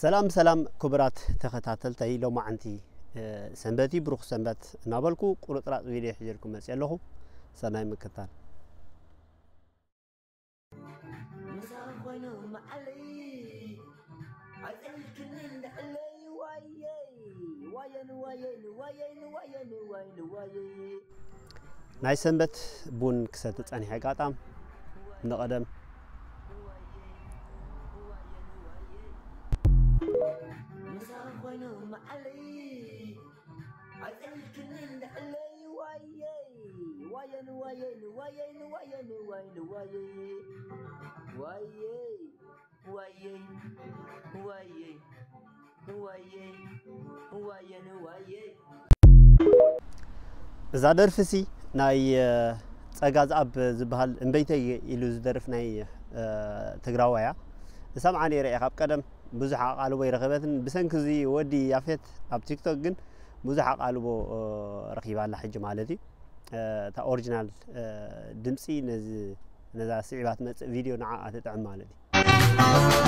ሰላም ሰላም ክቡራት ተኸታተልተይ፣ ሎማዓንቲ ሰንበቲ ብሩኽ ሰንበት እናበልኩ ቁርጥራጥ ቪድዮ ሒዘልኩም መፅእ ኣለኹ። ሰናይ ምክታል። ናይ ሰንበት ቡን ክሰቲ ጸኒሐ። ኣጋጣም ንቐደም። እዛ ደርፊ ሲ ናይ ጸጋ ዝኣብ ዝበሃል እምበይተይ ኢሉ ዝደርፍ ናይ ትግራዋያ እሰምዓ ነይረ እየ። ካብ ቀደም ብዙሕ ኣቓልቦ ይረኸበትን ብሰንኪ እዚ ወዲ ያፌት ኣብ ቲክቶክ ግን ብዙሕ ኣቓልቦ ረኺባ ኣላ ሕጂ ማለት እዩ። እታ ኦሪጂናል ድምፂ ነዛ ስዒባ ትመፅእ ቪድዮ ንዓኣ ትጥዕም ማለት እዩ።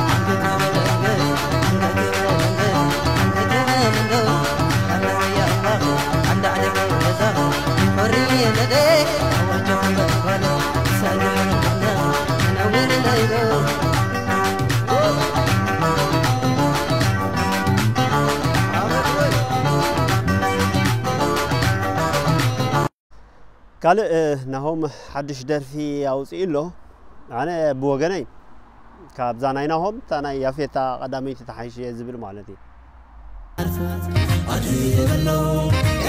ካልእ ናሆም ሓድሽ ደርፊ ኣውፅኡ ኣሎ። ኣነ ብወገነይ ካብዛ ናይ ናሆም እታ ናይ ያፌታ ቀዳመይቲ ተሓይሽ እየ ዝብል ማለት እዩ። ኣድበሎ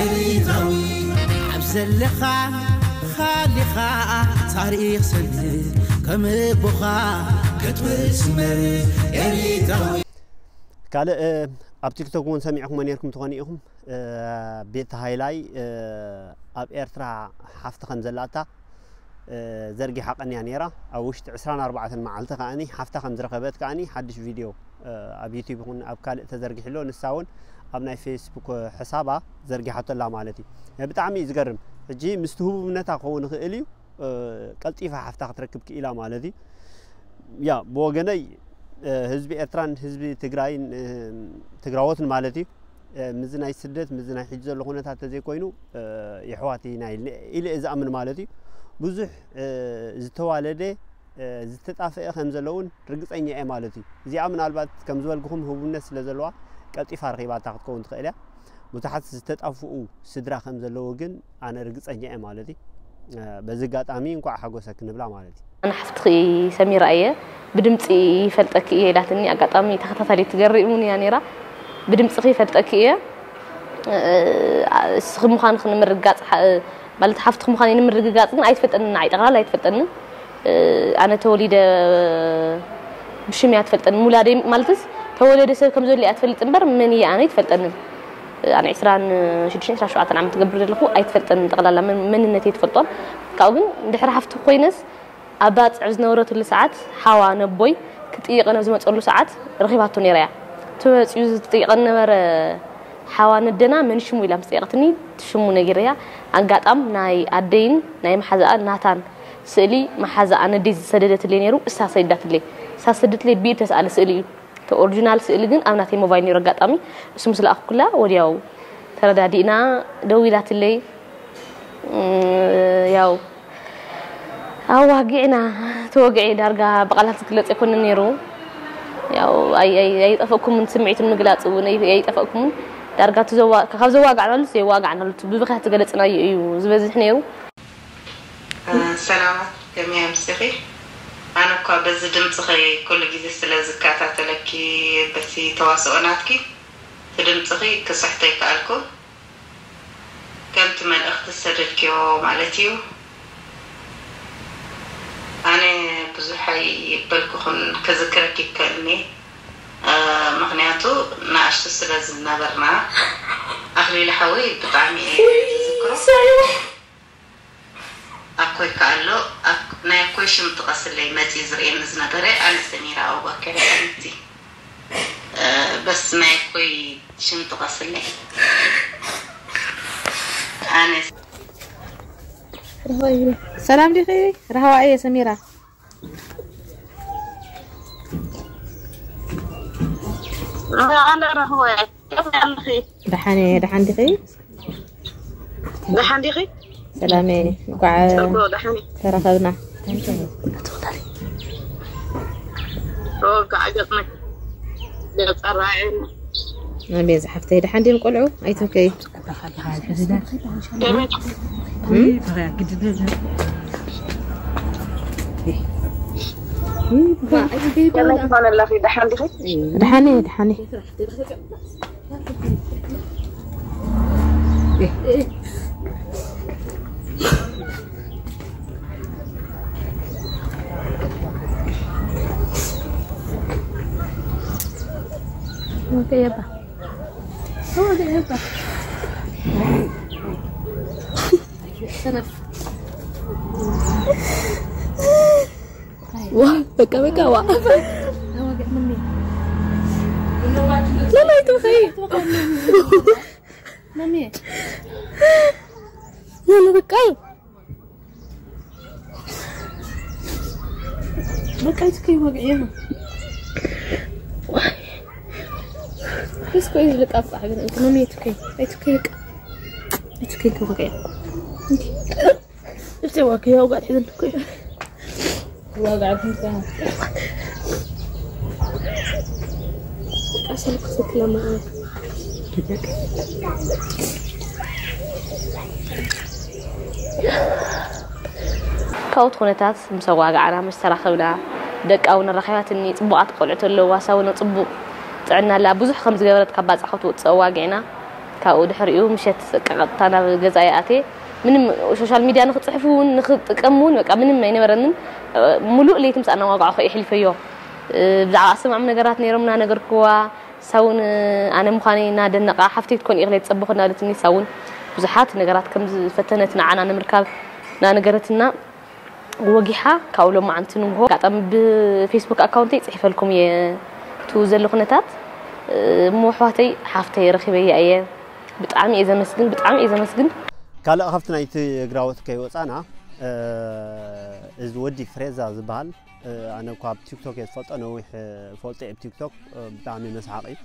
ኤሪትራዊ ኣብ ዘለኻ ኻሊኻ ታሪኽ ሰንድ ከም ኣቦኻ ክትብል ስመር ኤሪትራዊ። ካልእ ኣብ ቲክቶክ እውን ሰሚዕኹሞ ነርኩም ትኾኑ ኢኹም። ቤት ሃይላይ ኣብ ኤርትራ ሓፍቲ ከም ዘላታ ዘርጊሓ ቀንያ ነይራ። ኣብ ውሽጢ ዕስራን ኣርባዕተን መዓልቲ ከኣኒ ሓፍታ ከም ዝረኸበት ከኣኒ ሓድሽ ቪድዮ ኣብ ዩቲብ ይኹን ኣብ ካልእ ተዘርጊሕሎ። ንሳ እውን ኣብ ናይ ፌስቡክ ሕሳባ ዘርጊሓቶ ኣላ ማለት እዩ። ብጣዕሚ እዩ ዝገርም። ሕጂ ምስቲ ህቡብነታ ክኸውን ይኽእል እዩ፣ ቀልጢፋ ሓፍታ ክትረክብ ክኢላ ማለት እዩ። ያ ብወገነይ ህዝቢ ኤርትራን ህዝቢ ትግራይን ትግራዎትን ማለት እዩ ምዚ ናይ ስደት ምዚ ናይ ሕጂ ዘሎ ኩነታት ተዘይኮይኑ የሕዋት ኢና ኢለ እየ ዝኣምን ማለት እዩ። ብዙሕ ዝተዋለደ ዝተጣፈአ ከም ዘለውን ርግፀኛ እየ ማለት እዩ። እዚኣ ምናልባት ከም ዝበልኩኹም ህቡብነት ስለ ዘለዋ ቀልጢፋ ረኺባታ ክትከውን ትኽእል እያ። ብዙሓት ዝተጣፍኡ ስድራ ከም ዘለዉ ግን ኣነ ርግፀኛ እየ ማለት እዩ። በዚ ኣጋጣሚ እንኳዕ ሓጎሰ ክንብላ ማለት እዩ። ኣነ ሓፍትኺ ሰሚራ እየ፣ ብድምፂ ይፈልጠኪ እየ ኢላትኒ። ኣጋጣሚ ተኸታታሊት ትገርም እውን እያ ነይራ። ብድምፅኺ ይፈልጠኪ እየ፣ እስኺ ምዃንኺ ንምርግጋፅ፣ ማለት ሓፍትኺ ምዃነይ ንምርግጋፅ ግን ኣይትፈልጠንን፣ ንዓይ ጠቕላላ ኣይትፈልጠንን። ኣነ ተወሊደ ብሽም እያ ትፈልጠኒ። ሙላደይ ማለትስ ተወለደ ሰብ ከም ዘሎ እያ ትፈልጥ እምበር መን እየ ኣነ ኣይትፈልጠንን። ኣነ ዕስራን ሽዱሽተን ዕስራን ሸውዓተን ዓመት ትገብር ዘለኹ ኣይትፈልጠንን። ጠቕላላ መን-፣ መንነተይ ትፈልጦን። ካብኡ ግን ድሕሪ ሓፍቲ ኮይነስ ኣብ ባጽዕ ዝነበረትሉ ሰዓት ሓዋ ነቦይ ክጥይቐን ኣብ ዝመጸሉ ሰዓት ረኺባቶ ነይራ እያ። እቲ መጺኡ ዝጥይቐን ነበረ ሓዋ ነደና መን ሽሙ ኢላ ምስ ጠየቐትኒ ሽሙ ነጊረያ። ኣጋጣም ናይ ኣደይን ናይ መሓዛኣን ናታን ስእሊ መሓዛኣ ነደይ ዝሰደደትለይ ነይሩ፣ እሳ ሰዲዳትለይ። እሳ ዝሰደትለይ ብኢድ ተስኣለ ስእሊ እዩ። እቲ ኦሪጂናል ስእሊ ግን ኣብ ናተይ ሞባይል ነይሩ። ኣጋጣሚ እሱ ምስ ለኣኽኩላ ወዲያው ተረዳዲእና ደዊላትለይ። እም፣ ያው ኣዋጊዕና፣ ተወግዒ ዳርጋ ብቓላት ዝግለጽ ኣይኮነን ነይሩ። ያው ኣይ-፣ ኣይ-፣ ኣይጠፈእኩምን፣ ስምዒት ምግላጽ እውን ኣይ-፣ ኣይጠፈእኩምን። ዳርጋ እቲ ዘዋ-፣ ካብ ዘዋጋዕናሉ ዘየዋጋዕናሉ፣ እቲ ብብኽያት ዝገለጽናዮ እዩ ዝበዝሕ ነይሩ። ሰላማት፣ ከመይ ኣምሲኺ? ኣነ እኳ በዚ ድምፅኺ ኩሉ ግዜ ስለ ዝከታተለኪ፣ በቲ ተዋስኦ ናትኪ፣ እቲ ድምፅኺ ክስሕቶ ኣይከኣልኩ። ከምቲ መልእኽቲ ዝሰደድክዮ ማለት እዩ። ኣነ ብዙሕ ኣይበልኩኽን፣ ክዝክረኪ ይከኣልኒ። እ፣ ምኽንያቱ ንኣሽቱ ስለ ዝነበርና፣ ኣኽሊሉ ሓወይ ብጣዕሚ እየ ዝዝክሮ። ኣኮይ ከኣሎ፣ ኣክ-፣ ናይ ኣኮይ ሽም ጥቀስለይ፣ መጺኡ ዝርእየኒ ዝነበረ፣ ኣነ ሰሚራ ኣቡበከር እየ፣ ሓቢብቲ። እ፣ በስ ናይ ኣኮይ ሽም ጥቀስለይ። ኣነ ሰላም ዲኺ? ራህዋ እየ ሰሚራ። ኣነ ረኽቦ እየ። ከመይ ኣለኺ? ደሓን እየ፣ ደሓን ዲኺ? ደሓን ዲኺ? ሰላም እየ። እንኳዕ ጽቡቕ፣ ደሓን እየ። ተራኸብና። ኦ፣ ከዓ ገጽ መ-፣ ገጽ ኣረኣየኒ። ኣቤት ዝሓፍተይ፣ ደሓን ድዮም ቆልዑ? ኣይትብከይ። ከመይ ትኾን ኣለኺ? ደሓን ዲኺ? ደሓን እየ፣ ደሓን እየ። ዋ፣ በቃ፣ በቃ፣ ዋ። ለማይ ትኸይ። ለማይ፣ በቃ። በቃ፣ ኣይትከይ፣ ወግዒ ነው። ደስ ኮይ ዝልቃ፣ በቃ፣ ግን ኣይትመሚ፣ ኣይትከይ፣ ኣይትከይ፣ በቃ። ኣይትከይ፣ ወግዒ። እንዴ? እስቲ ዋክ፣ ያው ጋር ሄደን እኮ። ዋጋ አግኝታ። ቀስ ኢልኩ ስትለማ። ካብኡት ኩነታት ምስ ኣዋግዓና፣ ምስ ተራኸብና፣ ደቃ እውን ኣራኺባትኒ፣ ጽቡቓት ቆልዑት ኣለዋ፣ ሳውና ጽቡቕ ጥዕና ኣላ። ብዙሕ ከም ዝገበረት ካብ ባጽዓ ክትወጽእ ኣዋጊዕና። ካብኡ ድሕሪኡ ምሸት በቃ ቀጥታ ናብ ገዛይ ኣትየ። ምንም ሶሻል ሚድያ ንኽጽሕፍ እውን ንኽጥቀም እውን በቃ ምንም ኣይነበረንን። ሙሉእ ለይቲ ምስ ኣናዋጋዕኹ የሕልፈዮ። ብዛዕባ ኣሰማዕም ነገራት ነይሮም እናነገርክዋ፣ ሳውን ኣነ ምዃነይ እናደነቓ፣ ሓፍተይ ክትኮን ኢኽለ ትጸብኹ እናበለትኒ፣ ሳውን ብዙሓት ነገራት ከም ዝፈተነት ንዓና ንምርካብ እናነገረትና፣ ወጊሓ ካብኡ ሎማዓንቲ ንግሆ ኣጋጣሚ ብፌስቡክ ኣካውንተይ ጽሒፈልኩም እየ፣ እቲ ዘሎ ኩነታት። እሞ ኣሕዋተይ፣ ሓፍተይ ረኺበያ እየ። ብጣዕሚ እየ ዘመስግን፣ ብጣዕሚ እየ ዘመስግን። ካልእ ካብቲ ናይ ትግራዎት ከይወፃና፣ እ፣ እዚ ወዲ ፍሬዛ ዝበሃል፣ እ፣ ኣነ እኳ ኣብ ቲክቶክ እየ ዝፈልጦ፣ ነዊሕ፣ እ፣ ፈልጦ እየ ብቲክቶክ፣ እ፣ ብጣዕሚ መስሓቕ እዩ።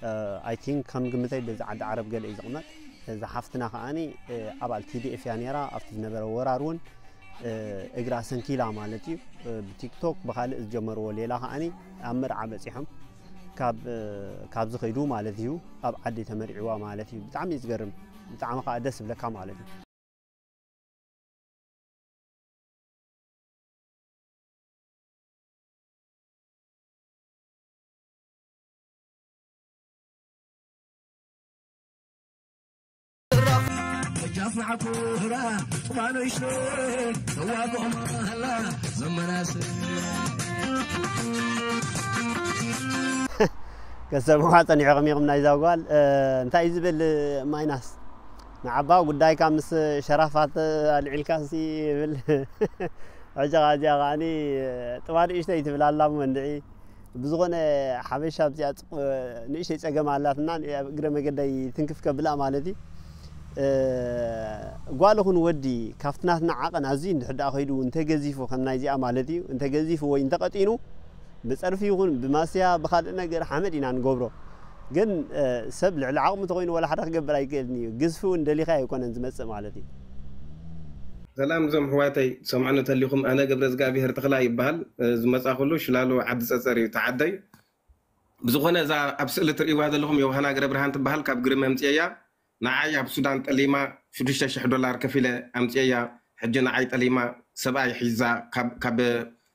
እ፣ ኣይ ቲንክ ከም ግምተይ በዚ ዓዲ ዓረብ ገለ እዩ ዝቕመጥ። እዛ ሓፍትና ከዓኒ፣ እ፣ ኣባል ቲ ዲ ኤፍ እያ ነይራ። ኣብቲ ዝነበረ ወራር እውን፣ እ፣ እግራ ሰንኪላ ማለት እዩ። እ፣ ብቲክቶክ ብኻልእ ዝጀመርዎ ሌላ ከዓኒ ኣብ መርዓ በፂሖም ካብ፣ እ፣ ካብ ዝኸይዱ ማለት እዩ። ኣብ ዓዲ ተመርዕዋ ማለት እዩ። ብጣዕሚ እዩ ዝገርም። ብጣዕሚ ከዓ ደስ ዝብለካ ማለት እዩ። ከሰምዋ ጸኒሕኹም ኢኹም ናይዛ ጓል፣ እ፣ እንታይ እዩ ዝብል ማይናስ? ንዓባ ጉዳይካ ምስ ሸራፋት ኣልዒልካሲ ይብል። ሕጂ ኸኣ እዚኣ ከዓኒ ጥባ ንእሽተይ ትብል ኣላ እሞ እንድዒ። ብዝኾነ ሓበሻ ኣብዚኣ ጽቕ-፣ ንእሽተይ ጸገም ኣላትና፣ ኣብ እግረ መገደይ ትንክፍ ከብላ ማለት እዩ። እ፣ ጓል ይኹን ወዲ ካብቲ ናትና ዓቐን ኣዝዩ እንድሕር ደኣ ከይዱ እንተገዚፉ ከም ናይዚኣ ማለት እዩ፣ እንተገዚፉ ወይ እንተቐጢኑ ብጸርፊ ይኹን ብማስያ ብኻልእ ነገር ሓመድ ኢና ንገብሮ። ግን፣ እ፣ ሰብ ልዕሊ ዓቕሙ ተኾይኑ ዋላ ሓደ ክገብር ኣይክእልን እዩ። ግዝፊ እውን ደሊኻ ኣይኮነን ዝመጽእ ማለት እዩ። ሰላም እዞም ኣሕዋተይ፣ ትሰምዑኒ ተሊኹም፣ ኣነ ገብረዝጋብሄር ተኽላይ ይበሃል። እ፣ ዝመጻኹሉ ሽላሎ ዓዲ ጸጸር እዩ፣ ተዓደይ። ብዝኾነ እዛ ኣብ ስእሊ ትርእይዋ ዘለኹም ዮሃና ገብረብርሃን ትበሃል፣ ካብ ግርም ኣምጽኤያ። ንዓይ ኣብ ሱዳን ጠሊማ ሽዱሽተ ሽሕ ዶላር ከፊለ ኣምጽኤያ። ሕጂ ንዓይ ጠሊማ ሰብኣይ ሒዛ ካብ፣ ካብ፣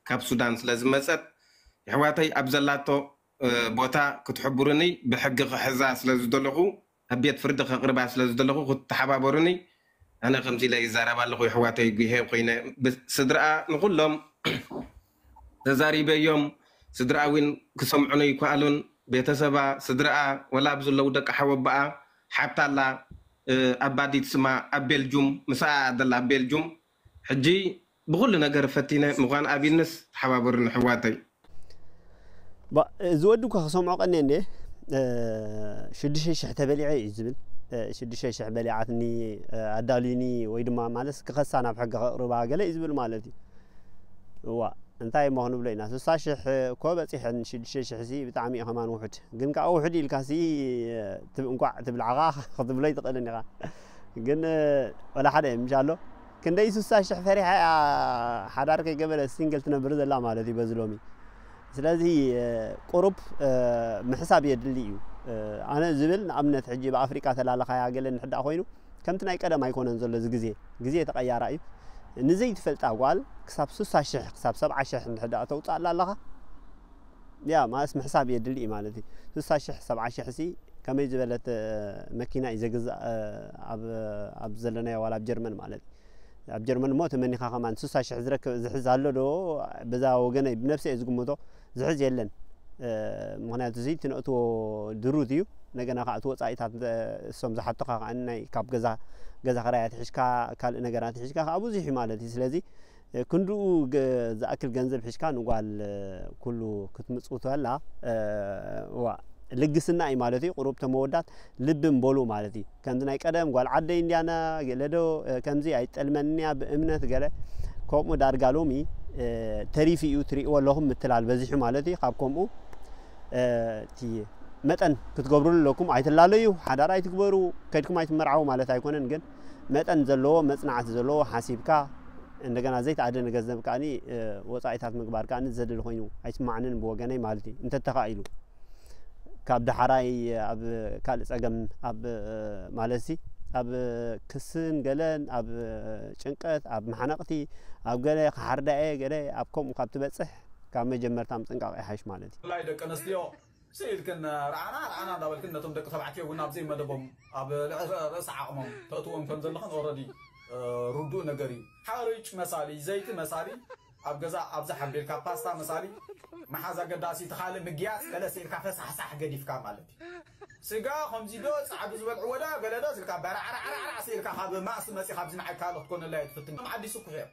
ካብ ሱዳን ስለ ዝመጸት፣ የሕዋተይ ኣብ ዘላቶ፣ እ፣ ቦታ ክትሕብሩኒ፣ ብሕጊ ክሕዛ ስለ ዝደለኹ፣ ኣብ ቤት ፍርዲ ከቕርባ ስለ ዝደለኹ ክትተሓባበሩኒ። ኣነ ከምዚ ኢለ ይዛረብ ኣለኹ፣ የሕዋተይ፣ ጉሄ ኮይነ፣ ብ-፣ ስድራኣ ንኹሎም ተዛሪበዮም፣ ስድራኣ እውን ክሰምዑኒ ኣይከኣሉን። ቤተሰባ፣ ስድራኣ፣ ወላ ኣብ ዘለዉ ደቂ ሓወቦኣ፣ ሓብታ ኣላ፣ እ፣ ኣባዲት ስማ ኣብ ቤልጁም፣ ምስኣ ደላ ኣብ ቤልጁም። ሕጂ ብኹሉ ነገር ፈቲነ ምዃን ኣቢልንስ ተሓባበሩኒ፣ ኣሕዋተይ። ባ-፣ እዚ ወዲ እኳ ክሰምዖ ቀንየ እንዴ፣ እ፣ ሽዱሽተ ሽሕ ተበሊዐ እዩ ዝብል። እ፣ ሽዱሽተ ሽሕ በሊዓትኒ፣ እ፣ ኣዳልዩኒ ወይ ድማ ማለት ክኸሳ ናብ ሕጊ ከቕርባ ገለ እዩ ዝብል ማለት እዩ። እዋ፣ እንታይ እሞ ክንብሎ ኢና? ስሳ ሽሕ እኮ በፂሐን ሽዱሽተ ሽሕ ሲ ብጣዕሚ እዩ ከማን ውሑድ። ግን ከዓ ውሑድ ኢልካ ሲ እንቋዕ ትብል ዓኻ ክትብሎ ይትኽእልን ኢኻ። ግን ወላ ሓደ ምሽ ኣሎ። ክንደይ ስሳ ሽሕ ፈሪሓ እያ ሓዳር ከይገበረ ሲንግል ትነብር ዘላ ማለት እዩ በዚ ሎሚ። ስለዚ ቁሩብ ምሕሳብ የድሊ እዩ። ኣነ ዝብል ንኣብነት ሕጂ ብኣፍሪቃ ተላለኻያ ገለ ንሕዳእ ኮይኑ ከምቲ ናይ ቀደም ኣይኮነን ዘሎ እዚ ግዜ። ግዜ ተቐያራ እዩ። ንዘይትፈልጣ ጓል ክሳብ ስሳ ሽሕ ክሳብ ሰብዓ ሽሕ እንድሕር ደኣ ተውፅኣላ ኣለኻ፣ ያ ማለትስ ምሕሳብ የድሊ እዩ ማለት እዩ። ስሳ ሽሕ ሰብዓ ሽሕ ሲ ከመይ ዝበለት መኪና እዩ ዘግዛእ? ኣብ ዘለናዮ ዋላ ኣብ ጀርመን ማለት እዩ። ኣብ ጀርመን እሞ ተመኒኻ ከማን ስሳ ሽሕ ዝረክብ ዝሕዝ ኣሎ ዶ? በዛ ወገነይ ብነብሰ እየ ዝግምቶ፣ ዝሕዝ የለን። ምክንያቱ እዚ ትነእትዎ ድሩት እዩ። እንደገና ከዓ እቲ ወፃኢታት እሶም ዝሓቱኻ ከዓ ናይ ካብ ገዛ ገዛ ክራይ ኣትሒዝካ ካልእ ነገራት ኣትሒዝካ ከዓ ብዙሕ እዩ ማለት እዩ። ስለዚ ክንድኡ ዝኣክል ገንዘብ ሒዝካ ንጓል ኩሉ ክትምፅውተላ ዋ ልግስና እዩ ማለት እዩ። ቁሩብ ተመወዳት ልቢ እምበሉ ማለት እዩ። ከምዚ ናይ ቀደም ጓል ዓደይ እንዲያና ገለ ዶ ከምዚ ኣይጠልመንያ ብእምነት ገለ ከምኡ ዳርጋ ሎሚ ተሪፉ እዩ ትሪእዎ ኣለኹም ምትላል በዚሑ ማለት እዩ። ካብ ከምኡ እቲ መጠን ክትገብሩሉ ኣለኩም። ኣይትላለዩ፣ ሓዳር ኣይትግበሩ፣ ከድኩም ኣይትመርዓው ማለት ኣይኮነን። ግን መጠን ዘለዎ መፅናዕቲ ዘለዎ ሓሲብካ እንደገና ዘይተኣደነ ገንዘብ ከዓኒ ወፃኢታት ምግባር ከዓኒ ዘድሊ ኮይኑ ኣይስማዓንን ብወገነይ ማለት እዩ። እንተተኻኢሉ ካብ ዳሕራይ ኣብ ካልእ ፀገም ኣብ ማለት ሲ ኣብ ክስን ገለን ኣብ ጭንቀት ኣብ ማሕነቕቲ ኣብ ገለ ክሓርዳኤ ገለ ኣብ ከምኡ ካብ ትበፅሕ ካብ መጀመርታ ምጥንቃቕ ይሓይሽ ማለት እዩ። ብፍላይ ደቂ ኣንስትዮ ስኢልክን ርዓና ርዓና እንዳበልክን ነቶም ደቂ ተባዕትዮ እውን ኣብ ዘይመደቦም ኣብ ልዕሊ ርእሲ ዓቕሞም ተእትዎም ከም ዘለኽን ኦረዲ ርዱእ ነገር እዩ። ሓርጭ መሳሊ ዘይቲ መሳሊ ኣብ ገዛ ኣብዛ ሓቢርካ ፓስታ መሳሊ መሓዝ ኣገዳሲ እቲ ካልእ ምግያፅ ገለ ስኢልካ ፈሳሕሳሕ ገዲፍካ ማለት እዩ። ስጋ ከምዚ ዶ ፃዕዱ ዝበልዕዎ ዶ ገለ ዶ ስልካ በራዕራዕራዕራዕ ስኢልካ ካብ ማእሲ መፂ ካብዚ ንዓይ ካልእ ክትኮነላ እየ ትፍትን ዓዲ ስኩሕ እዮም።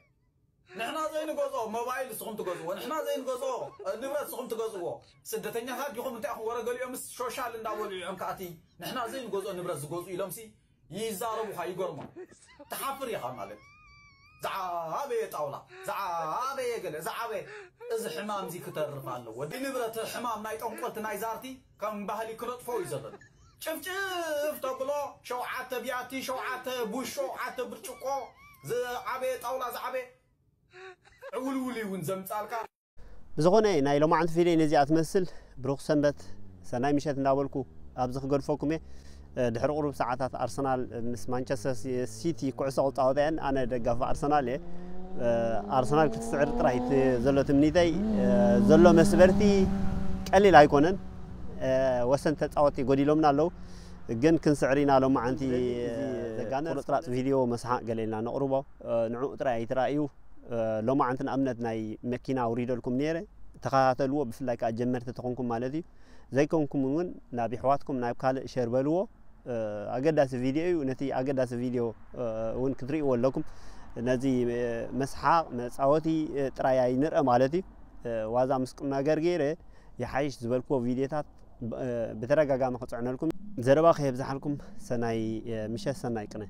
ንሕና ዘይንገዝኦ ሞባይል ንስኹም ትገዝእዎ፣ ንሕና ዘይንገዝኦ ንብረት ንስኹም ትገዝእዎ። ስደተኛታት ዲኹም እንታይ ኢኹም ወረ ገሊኦምስ ሾሻል እንዳበሉ እዮም ከኣቲ ንሕና ዘይንገዝኦ ንብረት ዝገዝኡ ኢሎምሲ ይዛረቡኻ ይገርሞም። ትሓፍር ኢኻ ማለት እዩ። ዝዓበየ ጣውላ ዝዓበየ ገለ ዝዓበየ እዚ ሕማም እዚ ክተርፍ ኣለዎ። ንብረት ሕማም ናይ ጠንቆልቲ ናይ ዛርቲ ከም ባህሊ ክነጥፎ እዩ ዘለና። ጭፍጭፍ ተብሎ ሸውዓተ ቢያቲ ሸውዓተ ቡሽ ሸውዓተ ብርጭቆ ዝዓበየ ጣውላ ዝዓበየ ዕውልውል እውን ዘምጻልካ። ብዝኾነ ናይ ሎማዓንቲ ቪድዮ ነዚኣ ትመስል። ብሩኽ ሰንበት ሰናይ ምሸት እንዳበልኩ ኣብዚ ክገድፈኩም እየ። ድሕሪ ቁሩብ ሰዓታት ኣርሰናል ምስ ማንቸስተር ሲቲ ኩዕሶ ክፃወታ እየን። ኣነ ደጋፊ ኣርሰናል እየ። ኣርሰናል ክትስዕር ጥራይ ዘሎ ትምኒተይ። ዘሎ መስበርቲ ቀሊል ኣይኮነን። ወሰንቲ ተፃወቲ ጎዲሎምና ኣለዉ። ግን ክንስዕር ኢና ሎማዓንቲ። ዘጋነ ቁርፅራፅ ቪድዮ መስሓቅ ገለ ኢልና ነቕርቦ። ንዕኡ ጥራይ ኣይትራእዩ። ሎማዓንቲ ንኣብነት ናይ መኪና ኣውሪደልኩም ነይረ። ተኸታተልዎ፣ ብፍላይ ከዓ ጀመርቲ ተኾንኩም ማለት እዩ። ዘይኮንኩም እውን ናብ ይሕዋትኩም ናብ ካልእ ሸር በልዎ። ኣገዳሲ ቪድዮ እዩ። ነቲ ኣገዳሲ ቪድዮ እውን ክትርእይዎ ኣለኩም። ነዚ መስሓቕ መፃወቲ ጥራይ ኣይንርአ ማለት እዩ። ዋዛ ምስ ቁም ነገር ገይረ ይሓይሽ ዝበልክዎ ቪድዮታት ብተደጋጋሚ ክፅዕነልኩም። ዘረባ ከየብዝሓልኩም፣ ሰናይ ምሸት፣ ሰናይ ቅነ።